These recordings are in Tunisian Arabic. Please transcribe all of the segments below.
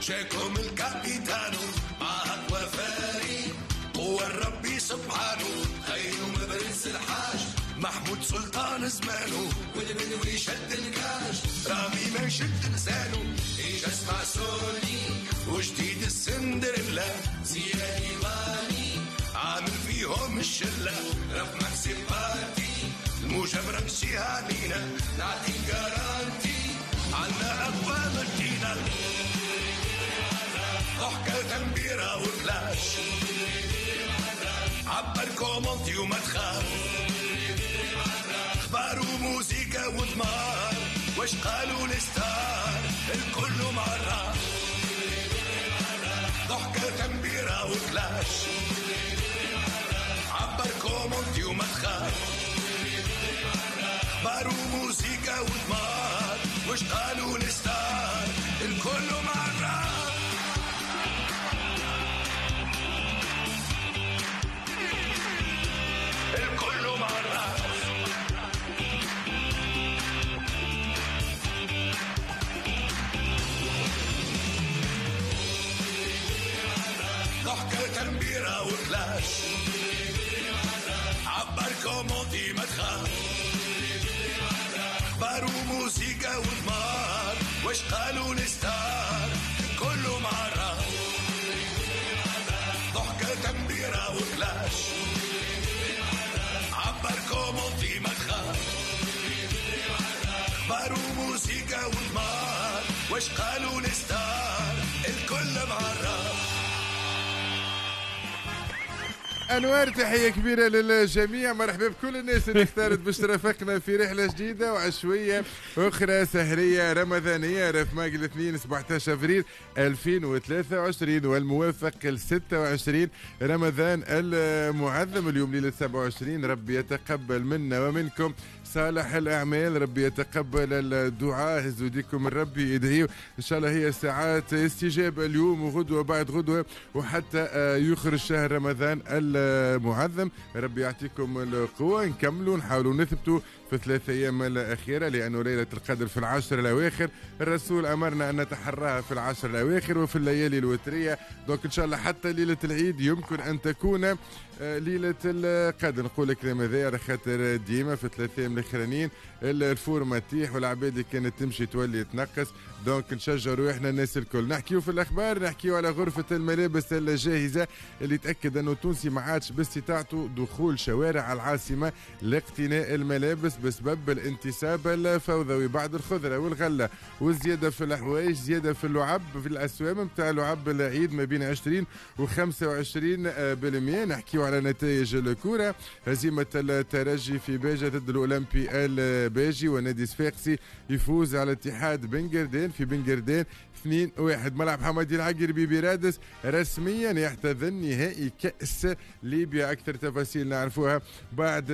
جاكم الكابيتانو معك وفاري هو الربي سبحانه خير مبرز الحاج محمود سلطان زمانه والبدوي شد الكاش رامي ما يشد لسانه اجا اسمع سوني وجديد السندريلا زياد ايماني عامل فيهم الشلة رف مكسي بارتي الموجة رمشيها علينا نعطي garantie عنا أقوى مدينة ضحكة تنبيرة وفلاش عبر commenter وما تخاف اخبار وموسيقى وثمار واش قالوا ال stars الكل معرف ضحكة تنبيرة وكلاش عبر commenter وما تخاف اخبار وموسيقى وثمار واش قالوا ال stars الكل معرف. الكل معرف. ضحكة تنبيرة وكلاش عبر commenter ما تخاف اخبار وموسيقى وثمار واش قالوا ال stars كله معرف ضحكة تنبيرة وكلاش عبر commenter ما تخاف اخبار وموسيقى وثمار واش قالوا ال stars الكل معرف. انوار تحية كبيرة للجميع، مرحبا بكل الناس اللي اختارت باش ترافقنا في رحله جديدة وعشويه اخرى سهريه رمضانيه. رف ماج الاثنين 17 افريل 2023 والموافق ل 26 رمضان المعظم. اليوم ليلة 27، ربي يتقبل منا ومنكم صالح الاعمال، ربي يتقبل الدعاء، هزوا يديكم ربي يدعيو ان شاء الله. هي ساعات استجابة اليوم وغدوه بعد غدوه وحتى يخرج شهر رمضان المعظم. ربي يعطيكم القوة، نكملوا نحاولوا نثبتوا في 3 أيام الأخيرة، لأنه ليلة القدر في 10 الأواخر، الرسول أمرنا أن نتحراها في 10 الأواخر وفي الليالي الوترية. donc إن شاء الله حتى ليلة العيد يمكن أن تكون ليلة القدر. نقول الكلام هذا على خاطر ديما في 3 أيام الأخرانيين ال forme تطيح والعباد اللي كانت تمشي تولي تنقص، donc نشجع روحنا الناس الكل. نحكيو في الأخبار، نحكيو على غرفة الملابس الجاهزة اللي تأكد أنه التونسي ما عادش باستطاعته دخول شوارع العاصمة لاقتناء الملابس بسبب الانتساب الفوضوي بعد الخضرة والغلة والزيادة في الحوايج، زيادة في اللعب في الأسوام نتاع لعب العيد ما بين 20 و 25%. نحكيو على نتائج الكرة، هزيمة الترجي في باجة ضد الأولمبي الباجي، ونادي صفاقسي يفوز على اتحاد بنجردين في بنجردين 2-1. ملعب حمادي العقربي برادس رسميا يحتضن نهائي كأس ليبيا. أكثر تفاصيل نعرفوها بعد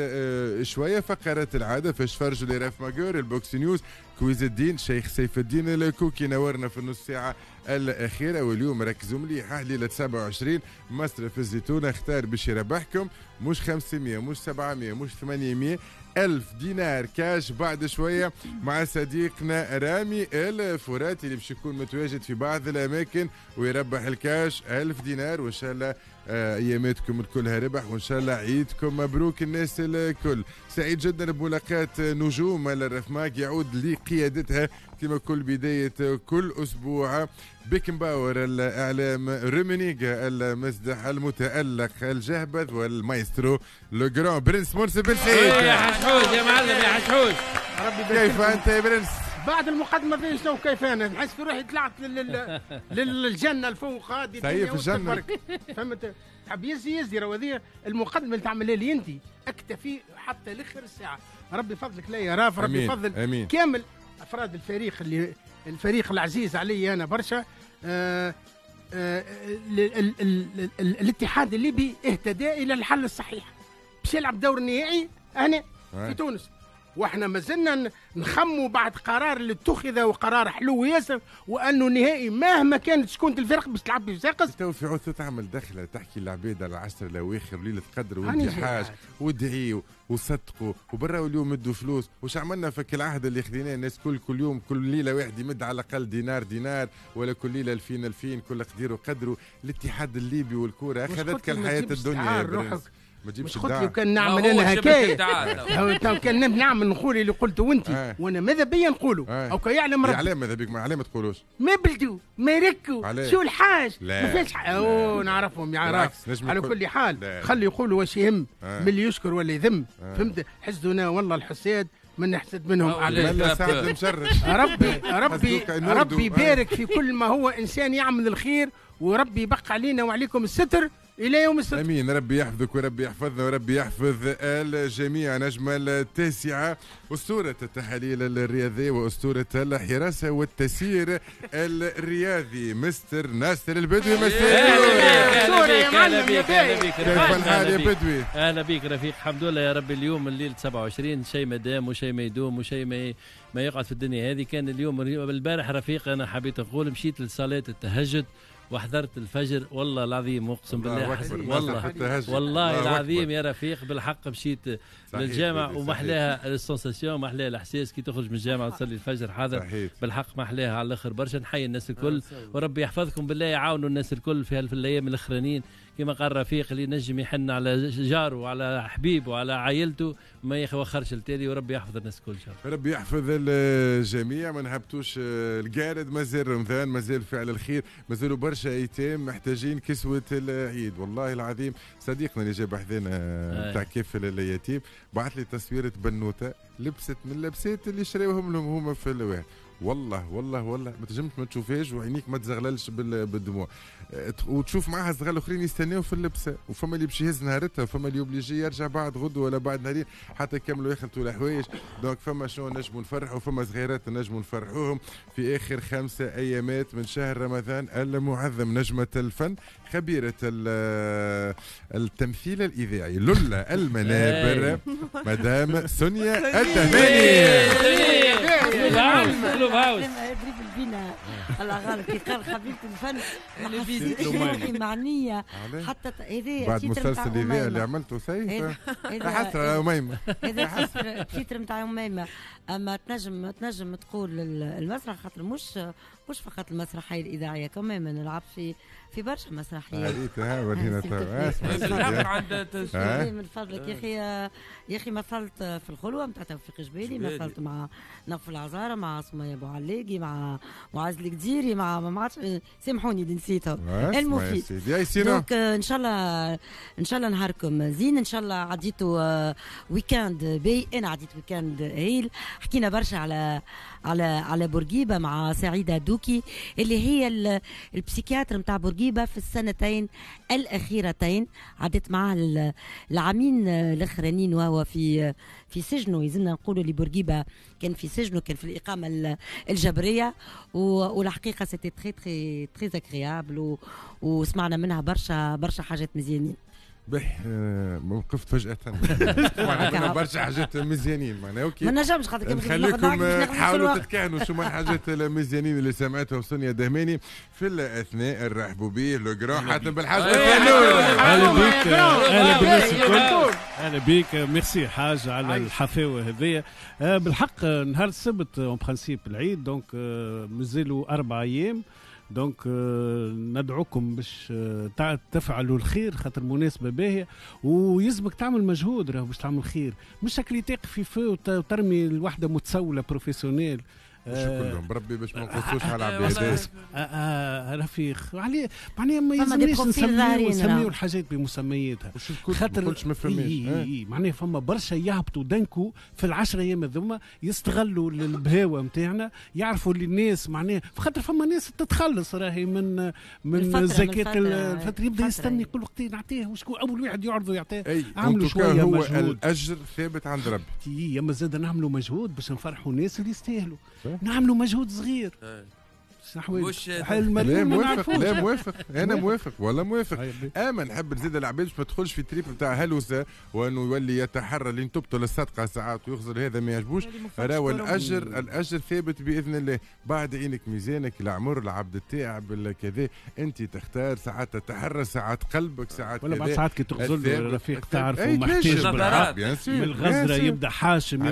شوية. فقرات العادة فاش فرجوا لراف ماجور، البوكس نيوز، quiz الدين، شيخ سيف الدين الكوكي نورنا في النص ساعة الأخيرة. واليوم ركزوا مليح، ليلة 27 مصرف الزيتونة اختار باش يربحكم مش 500 مش 700 مش 800 1000 دينار كاش بعد شوية مع صديقنا رامي الفراتي اللي باش يكون متواجد في بعض الأماكن ويربح الكاش 1000 دينار. وإن شاء الله أياماتكم كلها ربح، وإن شاء الله عيدكم مبروك الناس الكل. سعيد جدا بملاقاة نجوم الرفماك يعود لقيادتها كما كل بداية كل أسبوع. بيكنباور الإعلام، رومينيغا المزدح المتألق الجهبذ، والمايسترو le grand برنس مرسي بن سعيد. يا حشحوش يا معلم، يا حشحوش، ربي كيف أنت يا برنس؟ بعد المقدمة فين شنو كيف أنا نحس في روحي طلعت للجنة الفوق هذه. في الجنة فهمت؟ تحب يزي راهو هذه المقدمة اللي تعملها لي أنت، أكتفي حتى لآخر الساعة. ربي فضلك لا يا راف، ربي فضل. أمين. كامل أفراد الفريق اللي الفريق العزيز علي أنا برشا. الاتحاد الليبي اهتدى إلى الحل الصحيح باش يلعب دور النهائي هنا في تونس. واحنا مازلنا نخموا بعد قرار اللي اتخذ وقرار حلو ياسر، وانه نهائي مهما كانت شكون الفرق باش تلعب في صفاقس. تو في عوض تعمل دخله تحكي للعباد على العشر الاواخر وليلة قدر وانت حاج وادعيوا وصدقوا وبراو اليوم مدوا فلوس. وش عملنا فك العهد اللي خذيناه الناس كل يوم كل ليلة واحد يمد على الاقل دينار دينار ولا كل ليلة 2000 2000 كل قدير وقدره. الاتحاد الليبي والكوره اخذتك الحياة الدنيا يا برنس. ما تجيبش الدعاء. قلت لي كان نعمل انا هكايا كان نعمل نقول اللي قلته وانت وانا ماذا بيا نقوله او كي يعلم ربي. يعلم ماذا بيك ما تقولوش ما بلدو ما يركوا شو الحاج ما فيش او نعرفهم يعرف. على كل حال خلي يقولوا واش يهم من اللي يشكر ولا يذم. فهمت؟ حسدنا والله الحساد من نحسد منهم. ربي ربي ربي يبارك في كل ما هو انسان يعمل الخير، وربي يبقى علينا وعليكم الستر الى يوم السبت. امين. ربي يحفظك وربي يحفظنا وربي يحفظ الجميع. نجمة التاسعة اسطورة التحاليل الرياضية واسطوره الحراسة والتسيير الرياضي مستر ناصر البدوي. اهلا بك اهلا بك كيف الحال يا بدوي؟ اهلا بك رفيق، الحمد لله يا ربي. اليوم الليل 27 شيء ما دام وشيء ما يدوم وشيء ما يقعد في الدنيا هذه. كان اليوم البارح رفيق انا حبيت نقول مشيت لصلاة التهجد وحضرت الفجر والله العظيم اقسم بالله والله والله العظيم يا رفيق بالحق مشيت للجامع ومحلاها ال sensation، محلاها الاحساس كي تخرج من الجامع وتصلي الفجر حاضر بالحق محلاها على الاخر برشا. نحيي الناس الكل وربي يحفظكم بالله، يعاونوا الناس الكل في الايام الاخرانيين كما قال رفيق اللي نجم يحن على جاره وعلى حبيبه وعلى عائلته ما يوخرش التالي، وربي يحفظ الناس الكل ان شاء الله. ربي يحفظ الجميع. ما نهبطوش القارد، مازال رمضان، مازال فعل الخير، مازالوا برشا ايتام محتاجين كسوه العيد. والله العظيم صديقنا اللي جاب حذانا تاع كيف اليتيم بعث لي تصويره بنوته لبست من اللبسات اللي شراوهم لهم هما في الواحد. والله والله والله ما تنجمش ما تشوفهاش وعينيك ما تزغللش بالدموع، وتشوف معاها صغار الاخرين يستناو في اللبسه، وفما اللي باش يهز نهارتها، وفما اللي obligé يرجع بعد غدوه ولا بعد نهارين حتى يكملوا يخلطوا الحوايج. donc فما شنو نجموا نفرحوا، فما صغيرات نجموا نفرحوهم في اخر 5 ايامات من شهر رمضان المعظم. نجمه الفن، خبيرة التمثيل الاذاعي، لولا المنابر، مدام سونيا الدهماني. يضرب بينا الله غالب كي قال خبيرة الفن ما حسيتش روحي معنية حتى هذا بعد مسلسل الإذاعي اللي عملته سيف حسرة أميمة. هذا titre نتاع أميمة. أما تنجم تقول المسرح خاطر مش فقط المسرحية الإذاعية، كمان نلعب في برشا مسرحيات. ريتها ورينا من فضلك يا أخي، يا أخي مثلت في الخلوة نتاع توفيق جبالي، مثلت مع نوفل العزارة، مع سمية أبو علاقي، مع معاذ القديري، مع ما عرفتش سامحوني اللي نسيتهم. المفيد donc ان شاء الله ان شاء الله نهاركم زين، ان شاء الله عديتوا week-end باهي. انا عديت week-end هايل. حكينا برشا على على على بورقيبة مع سعيدة دوكي اللي هي ال psychiatre نتاع بورقيبة في السنتين الاخيرتين، عدت معاه العامين الاخرانيين وهو في سجنه. يلزمنا نقولوا اللي بورقيبة كان في سجنه، كان في الاقامة الجبرية، والحقيقة c'était très très très agréable، وسمعنا منها برشا برشا حاجات مزيانين. به وقفت فجأة سمعنا برشا حاجات مزيانين معناها OK ما نجمش خاطر نخليكم تحاولوا تتكهنوا شو ما الحاجات المزيانين اللي سمعتهم سونيا دهماني. في الاثناء نرحبوا به le grand حاتم بالحاج. اهلا بك، اهلا بالناس الكل، اهلا بك. ميرسي حاج على الحفاوه هذيا. بالحق نهار السبت en principe العيد، donc مازالوا 4 ايام، donc ندعوكم باش تفعلوا الخير خاطر مناسبة باهيه، ويلزمك تعمل مجهود راهو باش تعمل خير، مش شكل تقف في feu وترمي الوحدة متسوله professionnelle. مش كلهم بربي باش ما نقصوش على العباد. رفيق عليه معناها ما يلزمناش نسميو الحاجات بمسمياتها خاطر ما فماش. معناها فما برشا يهبطوا d'un coup في ال10 ايام هذوما، يستغلوا البهاوه نتاعنا، يعرفوا اللي الناس معناها خاطر فما ناس تتخلص راهي من زكاة الفطر، يبدا يستني يقول وقتي نعطيه، وشكون اول واحد يعرضه يعطيه. عملوا شوية هو مجهود، الاجر ثابت عند ربي. يا ما زاد نعملوا مجهود باش نفرحوا الناس اللي يستاهلوا، نعملوا مجهود صغير. لا موافق، لا موافق، انا موافق والله موافق. اما نحب نزيد العباد باش ما تدخلش في trip نتاع هلوسه وانه يولي يتحرى لين تبطل الصدقة ساعات ويخزر، هذا ما يعجبوش. راهو الاجر ثابت باذن الله. بعد عينك ميزانك، العمر، العبد التاعب كذا، انت تختار. ساعات تتحرى، ساعات قلبك، ساعات ولا بعد ساعات كي تغزل رفيق تعرف ومحتاج بالعقل من الغزره يبدا حاشم،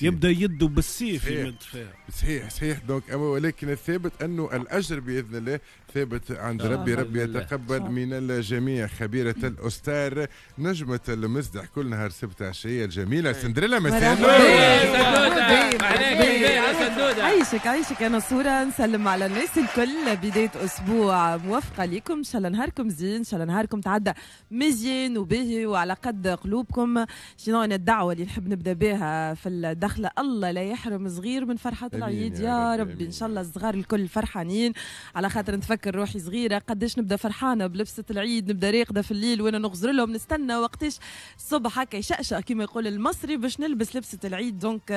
يبدا يده بالسيف يمد فيها. صحيح صحيح. donc ولكن الثابت انه الاجر باذن الله ثابت عند ربي، ربي يتقبل من الجميع. خبيرة الاستار نجمه المزدح كل نهار سبت عشية الجميلة سندريلا مساء. عايشك عايشك. انا صوره نسلم على الناس الكل، بداية اسبوع موفقة لكم، ان شاء الله نهاركم زين، ان شاء الله نهاركم تعدى مزيان وباهي وعلى قد قلوبكم. شنو انا الدعوة اللي نحب نبدا بها في الدخلة، الله لا يحرم صغير من فرحه العيد يا ربي. ان شاء الله الصغار الكل فرحانين، على خاطر نتفكر روحي صغيرة قداش نبدا فرحانة بلبسه العيد، نبدا راقده في الليل وانا نغزر لهم، نستنى وقتاش الصبح هكا يشقشق كما يقول المصري باش نلبس لبسه العيد. donc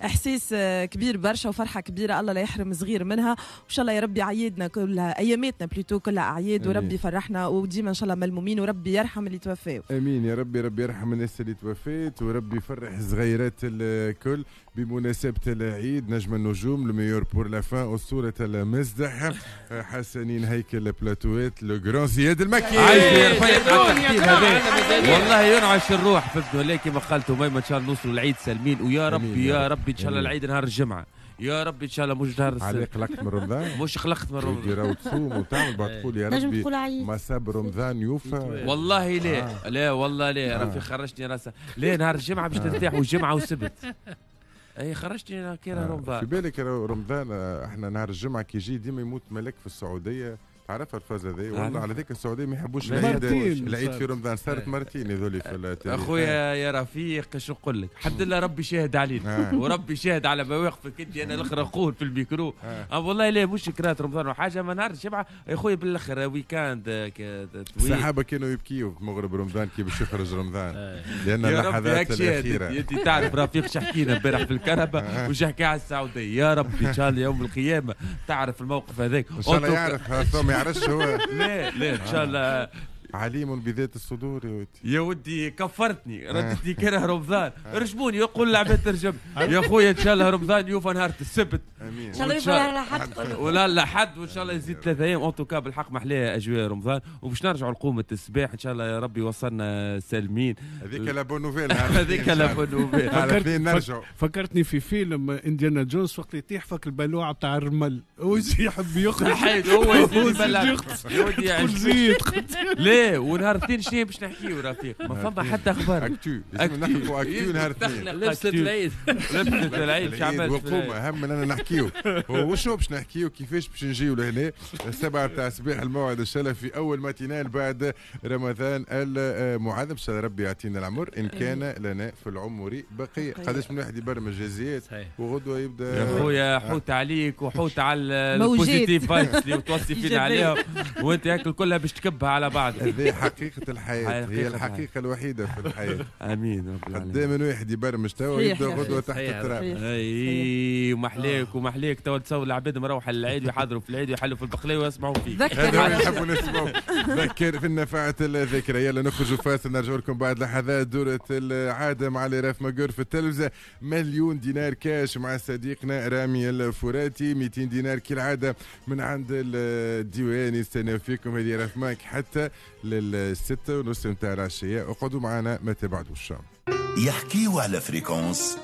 احساس كبير برشا وفرحه كبيرة، الله لا يحرم صغير منها. وان شاء الله يا ربي عيدنا كلها، اياماتنا plutôt كلها اعياد، وربي يفرحنا وديما ان شاء الله ملمومين، وربي يرحم اللي توفاو. امين يا ربي، ربي يرحم الناس اللي توفات وربي يفرح الصغيرات الكل بمناسبة العيد. نجم النجوم le meilleur pour la fin، اسطورة المزدح حسنين هيكل بلاتوات le grand زياد المكي. عايش يا رفيق على التحديد هذا، والله ينعش الروح فهمت ولا كما قالت أميمة. ان شاء الله نوصلوا العيد سالمين، ويا ربي يا ربي ان شاء الله العيد نهار الجمعة يا ربي ان شاء الله، مش نهار السبت. قلقت من رمضان؟ مش قلقت من رمضان. راهو تصوم وتعمل بعد تقول يا ربي ما صاب رمضان يوفى. والله لا لا والله لا رفيق خرجتني راسه. لا نهار الجمعة باش ترتاح، والجمعة والسبت. اي خرجتني كي رمضان. في بالك رمضان احنا نهار الجمعة كي يجي ديما يموت ملك في السعودية، تعرفها الفازة ذي؟ والله على ذيك السعودية ما يحبوش العيد في رمضان، صارت مرتين هذول في التاريخ. اخويا يا رفيق شو نقول لك، الحمد لله ربي شاهد علينا وربي شاهد على مواقفك انت. انا الاخر اقول في الميكرو والله لا مش كرات رمضان وحاجه، ما نهار الجمعة يا خويا بالاخر week-end طويل. الصحابة كانوا يبكيوا في مغرب رمضان كي باش يخرج رمضان، لان اللحظات الاخيرة. انت تعرف رفيق شحكينا امبارح في الكهرباء وشحكي على السعودية، يا ربي ان شاء الله يوم القيامة تعرف الموقف هذاك. ان شاء الله يعرف، ما يعرفش هو. لا لا ان شاء الله عليم بذات الصدور يا ودي. يا ودي كفرتني، ردتني كره رمضان، رجموني يقول العباد ترجم يا خويا. ان شاء الله رمضان يوفى نهار السبت، امين ان شاء الله يوفى لحد ولا لحد، وان شاء الله يزيد 3 ايام. en tout cas بالحق محلاها اجواء رمضان، وباش نرجعوا لقومه الصباح ان شاء الله يا ربي وصلنا سالمين. هذيك la bonne nouvelle، هذيك la bonne nouvelle. فكرتني في فيلم انديانا جونز وقت يطيح فك البلوعه بتاع الرمل ويجي يحب يخرج هو يزيد يا ودي. ونهار الاثنين شنو باش نحكيو رفيق؟ ما فما حتى اخبار. actu لازم نحكوا actu نهار الاثنين. لبسة العيد، لبسة العيد شو عملت؟ وقوم اهم من انا نحكيو وشو باش نحكيو، كيفاش باش نجيو لهنا 7 تاع الصباح الموعد ان شاء الله في اول matinale بعد رمضان المعاذ. ان شاء الله ربي يعطينا العمر ان كان لنا في العمر بقية. قداش من واحد يبرمج جزيات وغدوه يبدا يا خويا حوت عليك وحوت على ال positive vibes اللي توصي فينا عليهم، وانت هاك كلها باش تكبها على بعض. هذه حقيقة الحياة، هي الحقيقة الوحيدة في الحياة. امين رب العالمين. قدام من واحد يبرمج توا يبدا غدوة تحت التراب. اي ومحليك ومحليك توا تصور العباد مروحة للعيد ويحضروا في العيد ويحلوا في البقلاوة ويسمعوا فيك. هذا نحبوا نسمعوا. ذكر في النفعة الذكرى. يلا نخرجوا فاصل، نرجع لكم بعد لحظات. دورة العادة مع les Raf Magueur في التلفزة، 1,000,000 دينار كاش مع صديقنا رامي الفراتي، 200 دينار كالعادة من عند الديوان يستناو فيكم. هذه Raf Mag حتى لل6:30 نتاع العشية. اقعدوا معنا ما تبعدوش. يحكيوا على fréquence